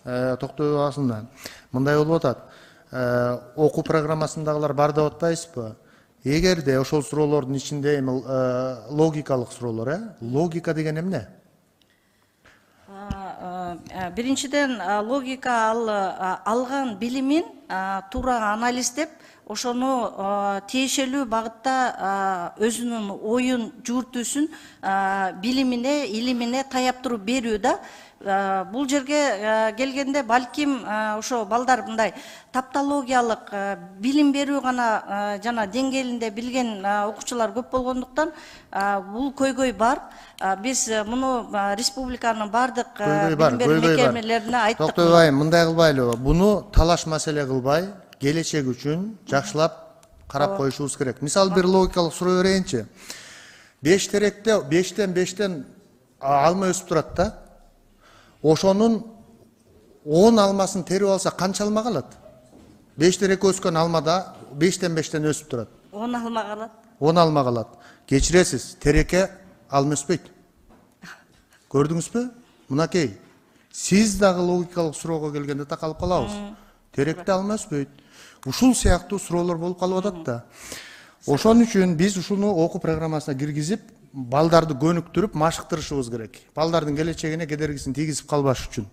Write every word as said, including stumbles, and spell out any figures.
токтой абасында мындай болуп атат. Окуу программасындагылар бар деп атпайсызбы? Эгерде ошол суроолордун ичинде эми логикалык суроолор, э? Логика деген эмне? Биринчиден, логика ал алган билимин туура анализдеп, ошону тиешелүү багытта өзүнүн оюн, жүгүртүүсүн билимине, илимине таяп туруп берүү да. Бул жерге келгенде балким ошо балдар мындай таптологиялык билим берүү гана жана деңгээлинде билген окуучулар көп болгондуктан бул көйгөй бар. Биз муну республиканын бардык билим берүү мекемелерине айттык. Токтой Айым, мындай кылбайлыбы? Буну талаш маселе кылбай, келечек үчүн жакшылап карап коюшубуз керек. Мисалы бир логикалык суроо берейинчи. беш теректе бештен бештен алма өсүп турат да. Ошонун он алмасын терип алса канча алма калат? беш терек өскөн алмада бештен бештен өсүп турат. он алма калат. он алма калат. Кечиресиз, тереке алма өспөйт. Көрдүңүзбү? Мынакей. Сиз дагы логикалык суроого келгенде такалып калабыз. Теректе алма өспөйт. Ушул сыяктуу суроолор болуп калып атат да. Ошон үчүн биз ушуну окуу программасына киргизип, балдарды көнүктүрүп машыктырышыбыз керек. Балдардын келечегине кедергисин тийгизип калбаш үчүн.